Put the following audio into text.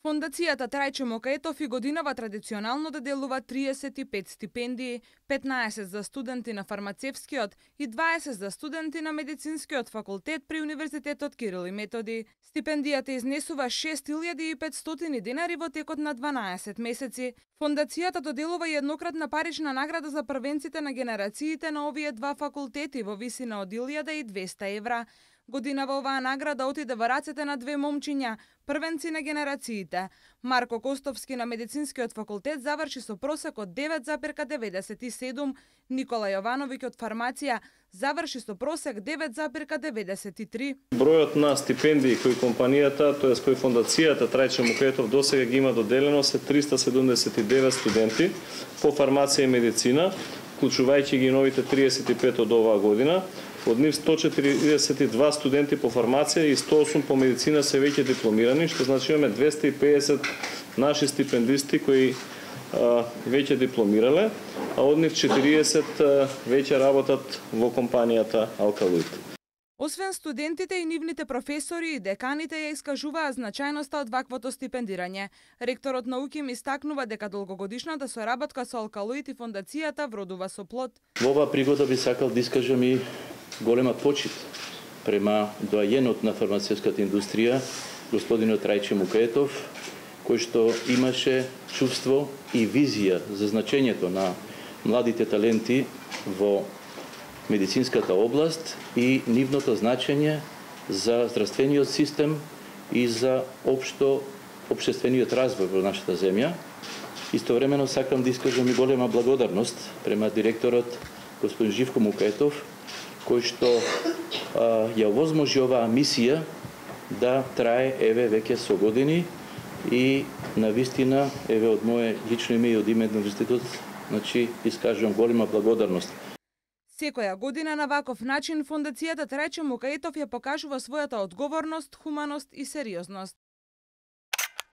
Фондацијата Трајче Мукаетов и годинава традиционално да делува 35 стипендии, 15 за студенти на фармацевскиот и 20 за студенти на медицинскиот факултет при Универзитетот Кирил и Методи. Стипендијата изнесува 6500 денари во текот на 12 месеци. Фондацијата доделува и еднократна парична награда за првенците на генерациите на овие два факултети во висина од 1200 евра. Годинава оваа награда отиде во рацете на две момчиња, првенци на генерациите. Марко Костовски на медицинскиот факултет заврши со просек од 9,97, Никола Јовановиќ од фармација заврши со просек 9,93. Бројот на стипендии кои компанијата, тоест кои фондацијата Трајче Мукаетов досега ги има доделено се 379 студенти по фармација и медицина, вклучувајќи ги новите 35 од оваа година. Од нив 142 студенти по фармација и 108 по медицина се веќе дипломирани, што значи имаме 250 наши стипендисти кои веќе дипломирале, а од нив 40 веќе работат во компанијата Алкалоид. Освен студентите и нивните професори и деканите ја искажуваа значајноста од ваквото стипендирање. Ректорот на УКИМ истакнува дека долгогодишната соработка со Алкалоид и фондацијата вродува со плод. Во оваа пригода би сакал да искажам и голема почит према доајенот на фармацевската индустрија, господинот Трајче Мукаетов, кој што имаше чувство и визија за значењето на младите таленти во медицинската област и нивното значење за здравствениот систем и за општествениот развој во нашата земја. Истовремено сакам да искажам и голема благодарност према директорот господин Живко Мукаетов, кој што ја овозможи оваа мисија да трае еве веќе со години и навистина еве од мое лично име и од име на универзитетот, значи искажувам голема благодарност. Секоја година на ваков начин фондацијата Трајче Мукаетов ја покажува својата одговорност, хуманост и сериозност.